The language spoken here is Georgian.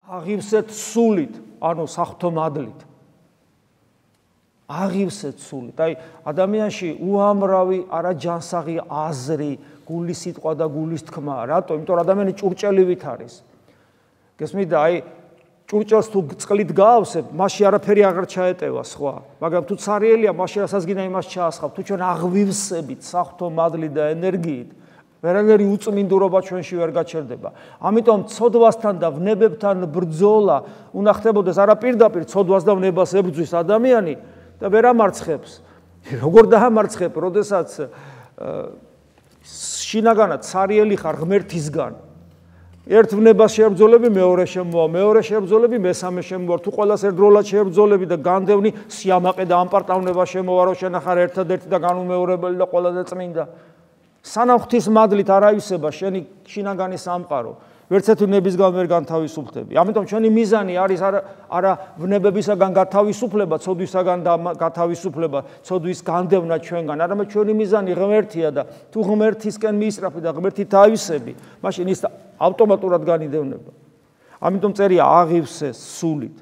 აღივსეთ სულით, ანუ საღვთო მადლით. აღივსეთ სულით. აი, ადამიანში უამრავი არაჯანსაღი აზრი, გულის სიტყვა და გულის თქმა. რატო? იმიტომ რომ ადამიანი ჭურჭელივით არის. გესმით და აი ჭურჭელს თუ წყლით გაავსებ, მასში არაფერი აღარ ჩაეტევა სხვა. მაგრამ თუ ცარიელია, მასში რასაც გინდა იმას ჩაასხავ. თუ ჩვენ აღვივსებით საღვთო მადლით და ენერგიით, ვერანაირი უწმინდურობა ჩვენში ვერ გაჩერდება. ამიტომ ცოდვასთან და ვნებებთან ბრძოლა უნდა ხდებოდეს არა პირდაპირ ცოდვას და ვნებას ებრძვის ადამიანი და ვერ ამარცხებს. როგორ დაამარცხებ, როდესაც შინაგანად ცარიელი ხარ ღმერთისგან. ერთ ვნებას შეებრძოლები, მეორე შემოვა, მეორე შეებრძოლები, მესამე შემოვა. თუ ყველას ერთდროულად შეებრძოლები და განდევნი სიამაყე და ამპარტავნება შემოვა, რომ შენ ახარ ერთადერთი და განუმეორებელი და ყველაზე წმინდა. სანამ ღვთის მადლით არ აივსება შენი შინაგანი სამყარო, ვერც ერთი ვნებისგან ვერ განთავისუფლდები. ამიტომ ჩვენი მიზანი არის არა ვნებებისაგან გათავისუფლება, ცოდვისაგან გათავისუფლება, ცოდვის განდევნა ჩვენგან, არამედ ჩვენი მიზანი ღმერთია და თუ ღმერთისკენ მიისწრაფი და ღმერთით აივსები, მაშინ ის ავტომატურად განიდევნება. ამიტომ წერია აღივსე სულით.